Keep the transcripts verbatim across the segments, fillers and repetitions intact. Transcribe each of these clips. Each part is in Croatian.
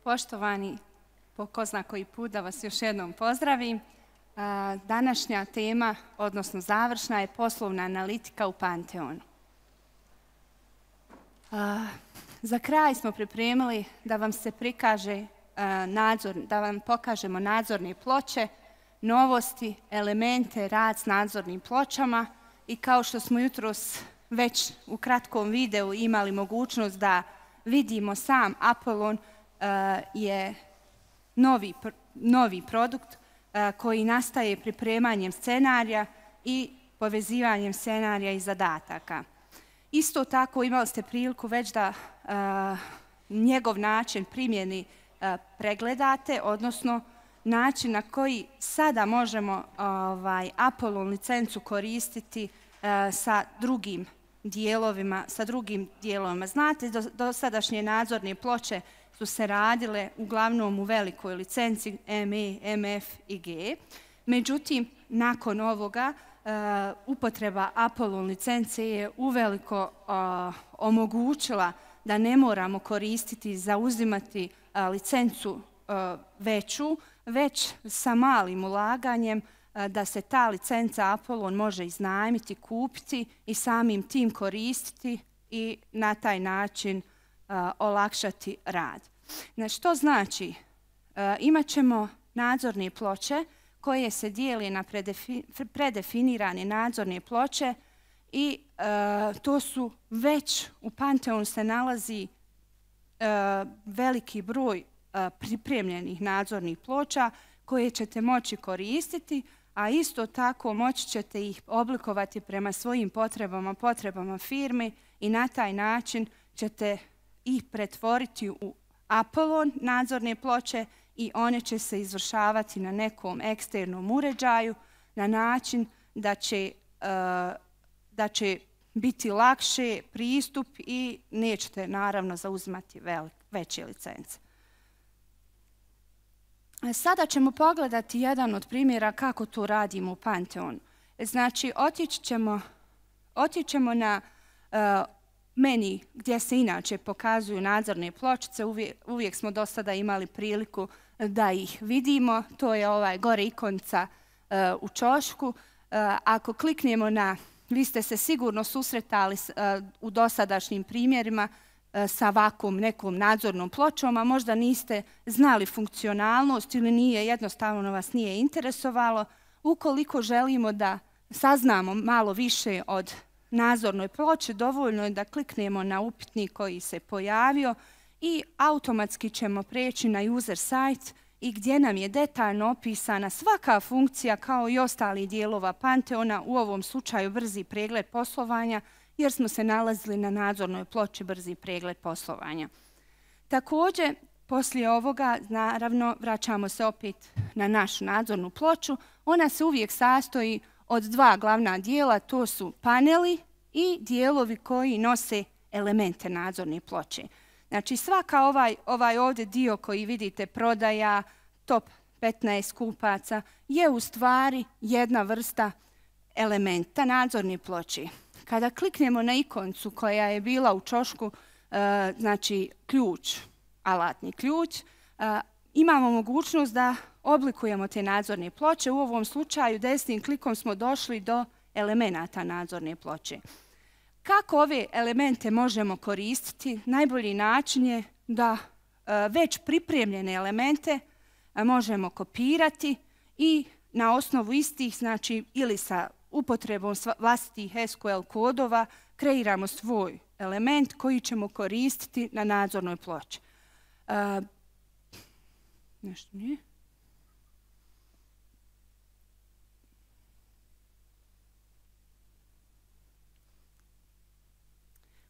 Poštovani, po ko zna koji put da vas još jednom pozdravim. Današnja tema, odnosno završna, je poslovna analitika u Pantheonu. Za kraj smo pripremili da vam se prikaže nadzor, da vam pokažemo nadzorne ploče, novosti, elemente, rad s nadzornim pločama i kao što smo jutros već u kratkom videu imali mogućnost da vidimo, sam Apollon je novi, novi produkt koji nastaje pripremanjem scenarija i povezivanjem scenarija i zadataka. Isto tako imali ste priliku već da njegov način primjeni pregledate, odnosno način na koji sada možemo ovaj, Apollon licencu koristiti sa drugim dijelovima, sa drugim dijelovima. Znate, do, dosadašnje nadzorne ploče su se radile uglavnom u velikoj licenci M E, M F i G. Međutim, nakon ovoga uh, upotreba Apollon licence je uveliko uh, omogućila da ne moramo koristiti, zauzimati uh, licencu uh, veću, već sa malim ulaganjem uh, da se ta licenca Apollon može iznajmiti, kupiti i samim tim koristiti i na taj način uh, olakšati rad. Znači, što znači? Uh, imat ćemo nadzorne ploče koje se dijeli na predefi, predefinirane nadzorne ploče i uh, to su već u Pantheonu se nalazi uh, veliki broj uh, pripremljenih nadzornih ploča koje ćete moći koristiti, a isto tako moći ćete ih oblikovati prema svojim potrebama, potrebama firmi i na taj način ćete ih pretvoriti u Apollon nadzorne ploče i one će se izvršavati na nekom eksternom uređaju na način da će, uh, da će biti lakše pristup i nećete naravno zauzimati velik, veće licence. Sada ćemo pogledati jedan od primjera kako to radimo u Pantheonu. Znači, otići ćemo, otići ćemo na uh, meni gdje se inače pokazuju nadzorne pločice. Uvijek, uvijek smo do sada imali priliku da ih vidimo. To je ovaj gore ikonca uh, u ćošku. Uh, ako kliknemo na, vi ste se sigurno susretali uh, u dosadašnjim primjerima uh, sa ovakvom nekom nadzornom pločom, a možda niste znali funkcionalnost ili nije, jednostavno vas nije interesovalo. Ukoliko želimo da saznamo malo više od nadzornoj ploči, dovoljno je da kliknemo na upitnik koji se pojavio i automatski ćemo preći na user site i gdje nam je detaljno opisana svaka funkcija kao i ostali dijelova Pantheona, u ovom slučaju brzi pregled poslovanja, jer smo se nalazili na nadzornoj ploči brzi pregled poslovanja. Također, poslije ovoga, naravno, vraćamo se opet na našu nadzornu ploču. Ona se uvijek sastoji od dva glavna dijela, to su paneli i dijelovi koji nose elemente nadzorne ploče. Znači, svaka ovaj, ovaj ovdje dio koji vidite, prodaja, top petnaest kupaca, je u stvari jedna vrsta elementa nadzorne ploče. Kada kliknemo na ikoncu koja je bila u ćošku, uh, znači ključ, alatni ključ, uh, imamo mogućnost da oblikujemo te nadzorne ploče. U ovom slučaju desnim klikom smo došli do elemenata nadzorne ploče. Kako ove elemente možemo koristiti? Najbolji način je da e, već pripremljene elemente e, možemo kopirati i na osnovu istih, znači ili sa upotrebom vlastitih S Q L kodova, kreiramo svoj element koji ćemo koristiti na nadzornoj ploči. E, nešto nije.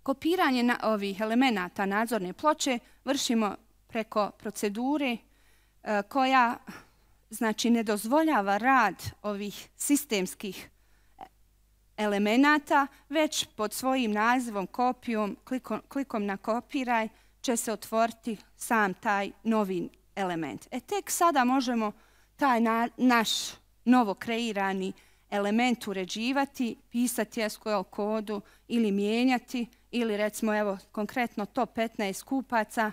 Kopiranje na ovih elemenata nadzorne ploče vršimo preko procedure e, koja, znači, ne dozvoljava rad ovih sistemskih elemenata, već pod svojim nazivom, kopijom, klikom, klikom na kopiraj će se otvoriti sam taj novi element. E tek sada možemo taj na, naš novo kreirani element uređivati, pisati S Q L kodu ili mijenjati, ili recimo evo konkretno top petnaest kupaca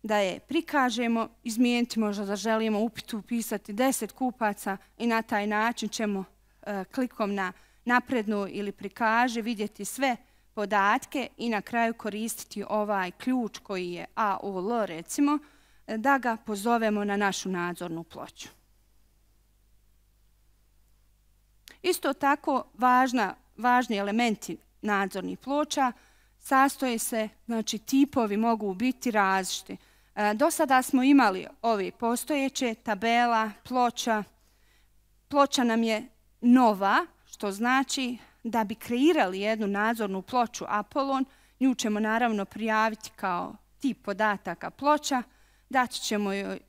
da je prikažemo, izmijeniti možda da želimo upitu upisati deset kupaca i na taj način ćemo e, klikom na naprednu ili prikaže vidjeti sve podatke i na kraju koristiti ovaj ključ koji je A O L recimo, da ga pozovemo na našu nadzornu ploču. Isto tako važna, važni elementi nadzornih ploča sastoje se, znači tipovi mogu biti različiti. E, do sada smo imali ove postojeće tabela, ploča. Ploča nam je nova, što znači da bi kreirali jednu nadzornu ploču Apolon, nju ćemo naravno prijaviti kao tip podataka ploča, dati ćemo joj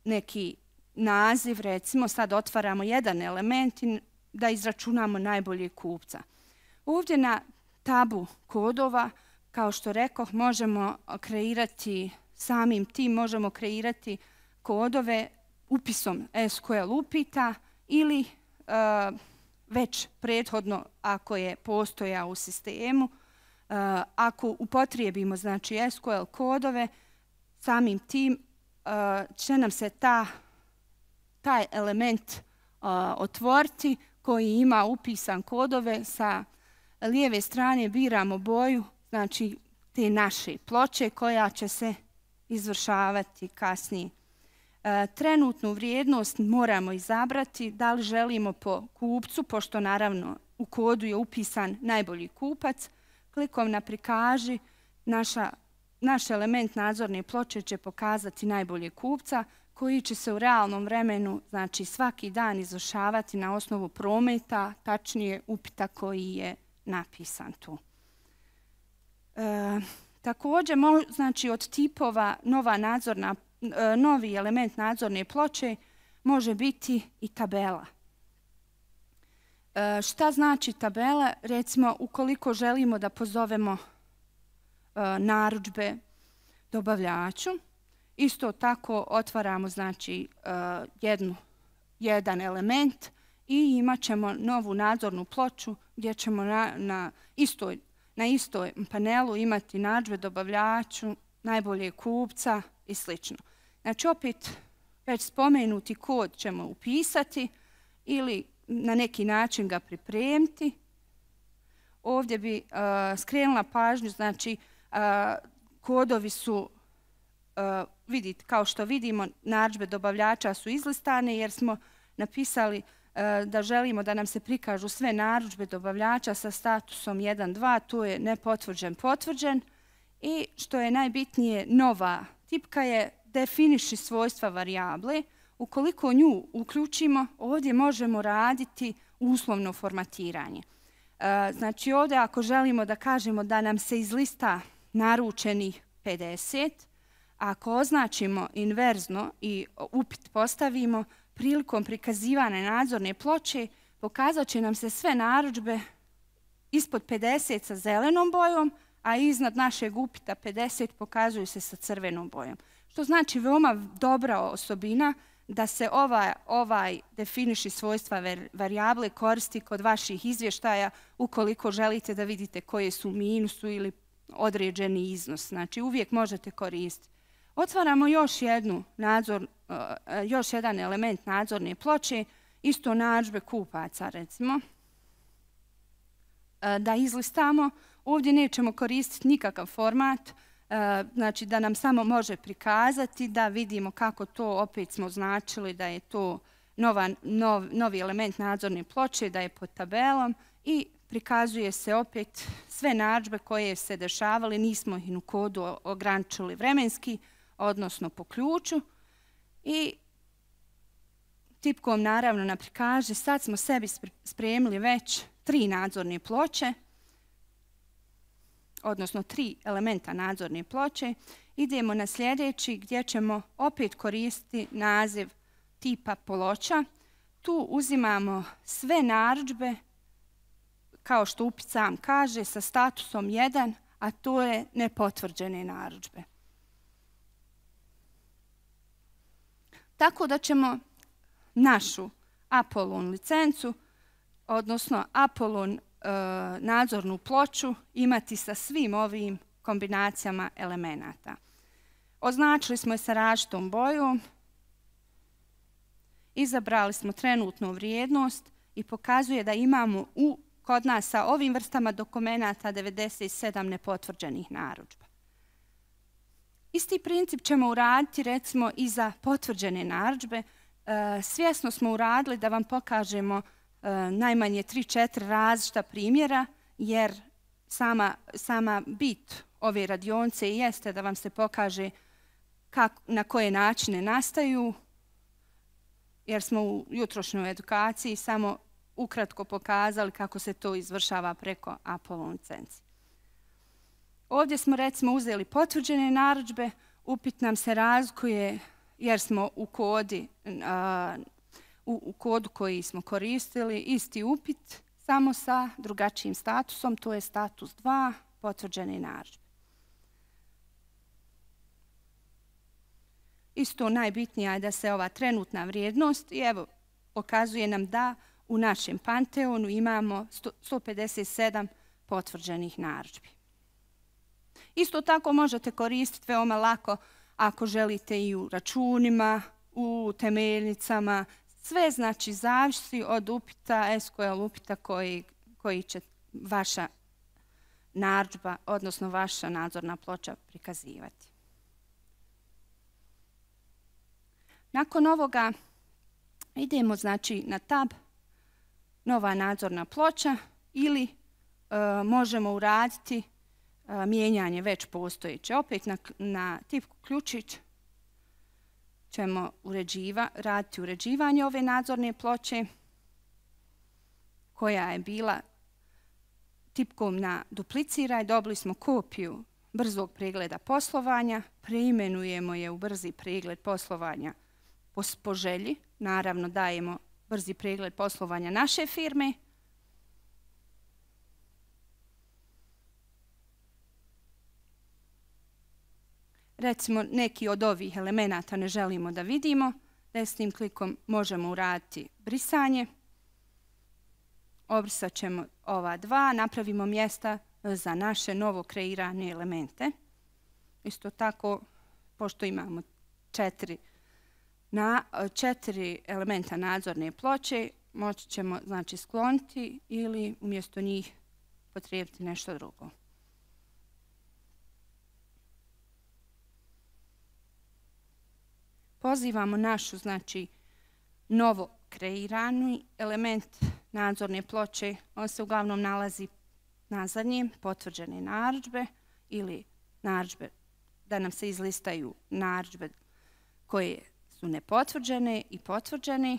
neki naziv, recimo sad otvaramo jedan element i da izračunamo najboljeg kupca. Ovdje na tabu kodova, kao što rekoh, možemo kreirati samim tim, možemo kreirati kodove upisom S Q L upita ili e, već prethodno ako je postojao u sistemu. E, ako upotrijebimo znači S Q L kodove, samim tim e, će nam se ta, taj element e, otvoriti koji ima upisan kodove. Sa lijeve strane biramo boju, znači te naše ploče koja će se izvršavati kasnije. E, trenutnu vrijednost moramo izabrati da li želimo po kupcu, pošto naravno u kodu je upisan najbolji kupac. Klikom na prikaži, naša, naš element nadzorne ploče će pokazati najboljeg kupca koji će se u realnom vremenu, znači svaki dan izvršavati na osnovu prometa, tačnije upita koji je napisan tu. E, također, znači od tipova nova nadzorna, e, novi element nadzorne ploče može biti i tabela. E, šta znači tabela? Recimo, ukoliko želimo da pozovemo e, narudžbe dobavljaču, isto tako otvaramo znači uh, jednu, jedan element i imat ćemo novu nadzornu ploču gdje ćemo na, na, istoj, na istoj panelu imati narudžbe dobavljaču, najboljeg kupca i sl. Znači opet već spomenuti kod ćemo upisati ili na neki način ga pripremiti. Ovdje bi uh, skrenula pažnju, znači uh, kodovi su Uh, vidite, kao što vidimo, narudžbe dobavljača su izlistane jer smo napisali uh, da želimo da nam se prikažu sve narudžbe dobavljača sa statusom jedan dva, tu je nepotvrđen, potvrđen. I što je najbitnije, nova tipka je definiši svojstva varijable. Ukoliko nju uključimo, ovdje možemo raditi uslovno formatiranje. Uh, znači ovdje ako želimo da kažemo da nam se iz lista naručenih pedeset, ako označimo inverzno i upit postavimo, prilikom prikazivanja nadzorne ploče pokazat će nam se sve narudžbe ispod pedeset sa zelenom bojom, a iznad našeg upita pedeset pokazuju se sa crvenom bojom. Što znači veoma dobra osobina da se ovaj, ovaj definiši svojstva varijable koristi kod vaših izvještaja ukoliko želite da vidite koje su minusu ili određeni iznos. Znači uvijek možete koristiti. Otvaramo još, jednu nadzor, uh, još jedan element nadzorne ploče, isto narudžbe kupaca recimo. Uh, da izlistamo, ovdje nećemo koristiti nikakav format, uh, znači da nam samo može prikazati, da vidimo kako to opet smo označili da je to nova, nov, novi element nadzorne ploče, da je pod tabelom i prikazuje se opet sve narudžbe koje se dešavale, nismo ih u kodu ograničili vremenski, odnosno po ključu. I tipkom naravno na prikaže, sad smo sebi spremili već tri nadzorne ploče, odnosno tri elementa nadzorne ploče. Idemo na sljedeći gdje ćemo opet koristiti naziv tipa ploča. Tu uzimamo sve narudžbe, kao što upit sam kaže, sa statusom jedan, a to je nepotvrđene narudžbe. Tako da ćemo našu Apolon licencu, odnosno Apolon e, nadzornu ploču imati sa svim ovim kombinacijama elemenata. Označili smo je sa različitom bojom, izabrali smo trenutnu vrijednost i pokazuje da imamo u, kod nas sa ovim vrstama dokumenata devedeset sedam nepotvrđenih narudžba. Isti princip ćemo uraditi recimo i za potvrđene narudžbe. E, svjesno smo uradili da vam pokažemo e, najmanje tri četiri različita primjera, jer sama, sama bit ove radionice jeste da vam se pokaže kako, na koje načine nastaju, jer smo u jutrošnjoj edukaciji samo ukratko pokazali kako se to izvršava preko Apollo licenci. Ovdje smo recimo uzeli potvrđene narudžbe, upit nam se razlikuje jer smo u, kodi, a, u, u kodu koji smo koristili isti upit, samo sa drugačijim statusom, to je status dva, potvrđene narudžbe. Isto najbitnija je da se ova trenutna vrijednost, i evo, pokazuje nam da u našem Panteonu imamo sto pedeset sedam potvrđenih narudžbi. Isto tako možete koristiti veoma lako ako želite i u računima, u temeljnicama. Sve znači zavisi od upita, S Q L upita koji, koji će vaša narudžba, odnosno vaša nadzorna ploča prikazivati. Nakon ovoga idemo znači na tab nova nadzorna ploča ili e, možemo uraditi e, mijenjanje već postojeće. Opet na, na tipku ključić ćemo uređiva, raditi uređivanje ove nadzorne ploče koja je bila tipkom na dupliciraj. Dobili smo kopiju brzog pregleda poslovanja, preimenujemo je u brzi pregled poslovanja po, po želji. Naravno dajemo brzi pregled poslovanja naše firme. Recimo neki od ovih elemenata ne želimo da vidimo. Desnim klikom možemo uraditi brisanje. Obrisat ćemo ova dva, napravimo mjesta za naše novo kreirane elemente. Isto tako, pošto imamo četiri, na, četiri elementa nadzorne ploče, moći ćemo znači, skloniti ili umjesto njih potrijebiti nešto drugo. Pozivamo našu znači, novo kreirani element nadzorne ploče. On se uglavnom nalazi na zadnjem, potvrđene narudžbe ili narudžbe, da nam se izlistaju narudžbe koje su nepotvrđene i potvrđene.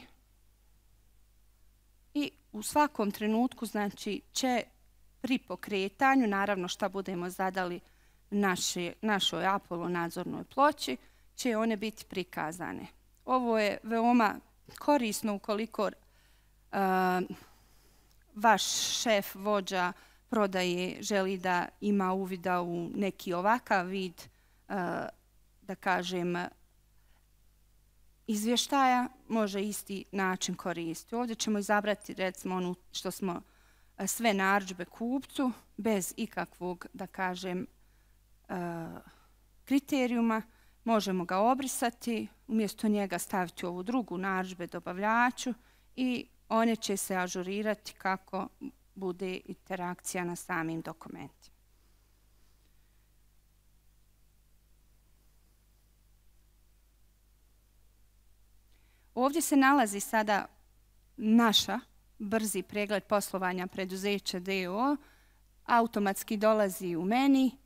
I u svakom trenutku znači, će pri pokretanju, naravno šta budemo zadali naše, našoj Apollo nadzornoj ploči, će one biti prikazane. Ovo je veoma korisno ukoliko uh, vaš šef, vođa prodaje želi da ima uvida u neki ovakav vid, uh, da kažem, izvještaja, može isti način koristiti. Ovdje ćemo izabrati recimo ono što smo uh, sve narudžbe kupcu bez ikakvog, da kažem, uh, kriterijuma. Možemo ga obrisati, umjesto njega staviti ovu drugu narudžbe dobavljaču i one će se ažurirati kako bude interakcija na samim dokumentima. Ovdje se nalazi sada naša brzi pregled poslovanja preduzeća D O O, automatski dolazi u meni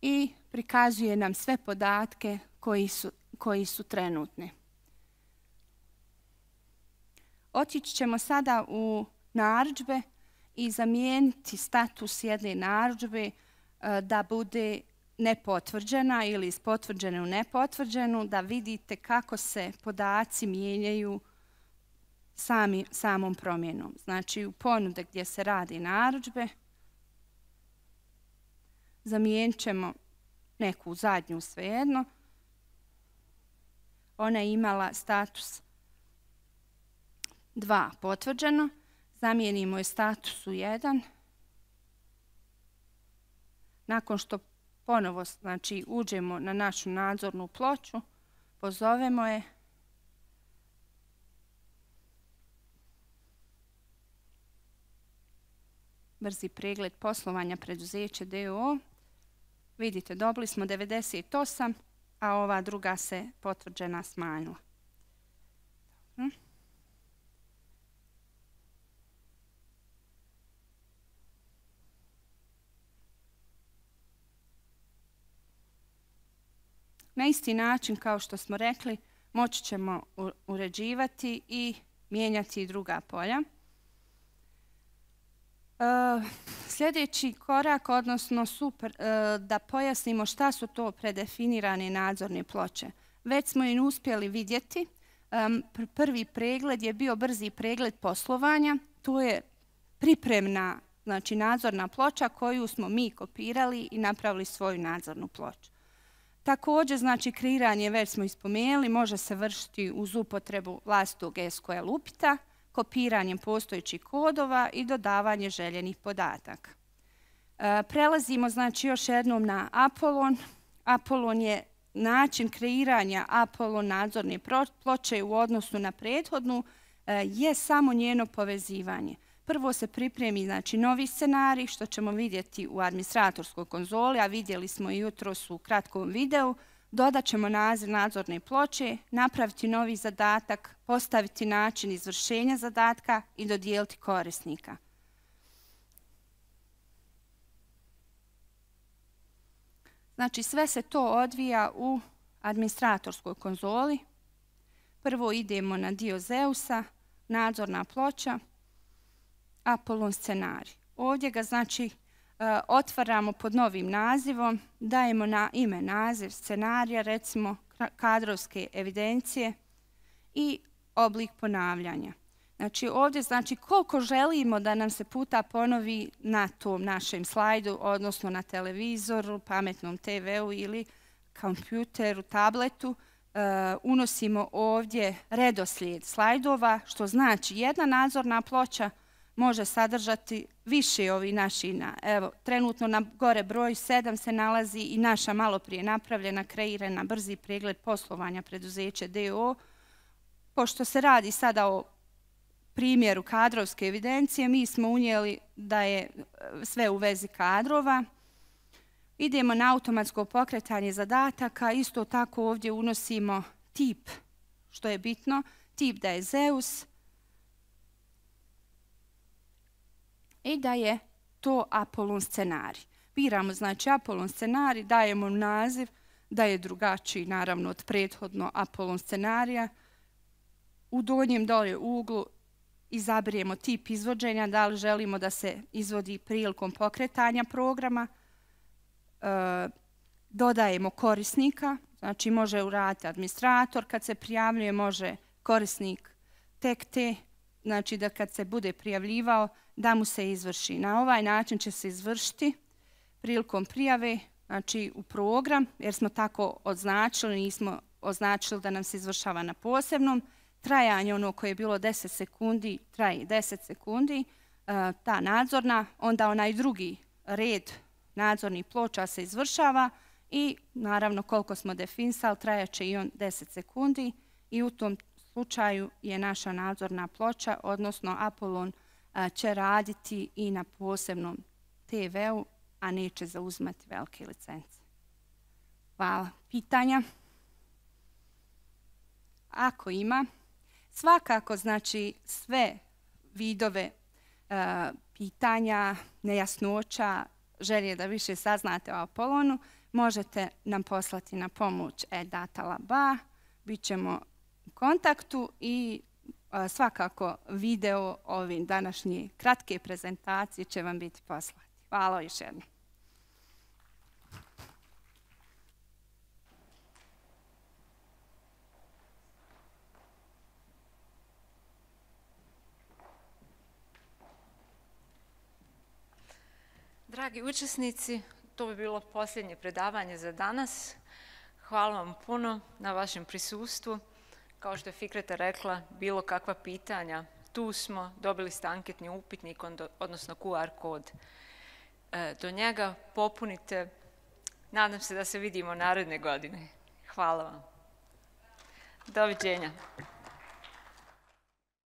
i prikazuje nam sve podatke koji su, koji su trenutni. Otići ćemo sada u narudžbe i zamijeniti status jedne narudžbe da bude nepotvrđena ili iz potvrđene u nepotvrđenu, da vidite kako se podaci mijenjaju sami, samom promjenom. Znači u ponude gdje se radi narudžbe zamijenit ćemo neku zadnju svejedno. Ona je imala status dva potvrđeno. Zamijenimo je statusu jedan. Nakon što ponovo znači, uđemo na našu nadzornu ploču, pozovemo je. Brzi pregled poslovanja preduzeća D O O. Vidite, dobili smo devedeset osam, a ova druga se potvrđena smanjila. Hm. Na isti način, kao što smo rekli, moći ćemo uređivati i mijenjati druga polja. Uh, sljedeći korak, odnosno super, uh, da pojasnimo šta su to predefinirane nadzorne ploče. Već smo im uspjeli vidjeti. Um, pr prvi pregled je bio brzi pregled poslovanja. To je pripremna, znači nadzorna ploča koju smo mi kopirali i napravili svoju nadzornu ploču. Također, znači kreiranje, već smo ispomenuli, može se vršiti uz upotrebu vlastitog S Q L upita, kopiranjem postojećih kodova i dodavanje željenih podataka. E, prelazimo znači još jednom na Apollon. Apollon je način kreiranja Apollon nadzorne ploče u odnosu na prethodnu, e, je samo njeno povezivanje. Prvo se pripremi znači novi scenarij, što ćemo vidjeti u administratorskoj konzoli, a vidjeli smo i jutros u kratkom videu. Dodat ćemo naziv nadzorne ploče, napraviti novi zadatak, postaviti način izvršenja zadatka i dodijeliti korisnika. Znači sve se to odvija u administratorskoj konzoli. Prvo idemo na dio Zeusa, nadzorna ploča, Apollon scenarij. Ovdje ga znači otvaramo pod novim nazivom, dajemo na ime naziv scenarija, recimo kadrovske evidencije i oblik ponavljanja. Znači ovdje znači koliko želimo da nam se puta ponovi na tom našem slajdu, odnosno na televizoru, pametnom te veu ili kompjuteru, tabletu, uh, unosimo ovdje redoslijed slajdova, što znači jedna nadzorna ploča može sadržati više ovi naši. Evo, trenutno na gore broj sedam se nalazi i naša malo prije napravljena, kreirana brzi pregled poslovanja preduzeća D O O. Pošto se radi sada o primjeru kadrovske evidencije, mi smo unijeli da je sve u vezi kadrova. Idemo na automatsko pokretanje zadataka. Isto tako ovdje unosimo tip, što je bitno, tip da je Zeus, i da je to Apollon scenarij. Biramo znači Apollon scenarij, dajemo naziv da je drugačiji naravno od prethodno Apollon scenarija. U donjem dolje uglu izaberemo tip izvođenja, da li želimo da se izvodi prilikom pokretanja programa. E, dodajemo korisnika, znači može uraditi administrator kad se prijavljuje, može korisnik tek te, znači da kad se bude prijavljivao da mu se izvrši. Na ovaj način će se izvršiti prilikom prijave, znači u program, jer smo tako označili, nismo označili da nam se izvršava na posebnom. Trajanje ono koje je bilo deset sekundi, traje deset sekundi, ta nadzorna, onda onaj drugi red nadzornih ploča se izvršava i naravno koliko smo definisali, trajaće i on deset sekundi i u tom slučaju je naša nadzorna ploča, odnosno Apollon će raditi i na posebnom te veu, a neće zauzimati velike licence. Hvala. Pitanja? Ako ima, svakako znači sve vidove uh, pitanja, nejasnoća, želje da više saznate o Apollonu, možete nam poslati na pomoć e data laba, bit ćemo u kontaktu i uh, svakako video ovim današnje kratke prezentacije će vam biti poslati. Hvala još jednom. Dragi učesnici, to bi bilo posljednje predavanje za danas. Hvala vam puno na vašem prisustvu. Kao što je Fikreta rekla, bilo kakva pitanja, tu smo, dobili ste anketni upitnik, odnosno Q R kod. Do njega popunite Nadam se da se vidimo naredne godine. Hvala vam. Doviđenja.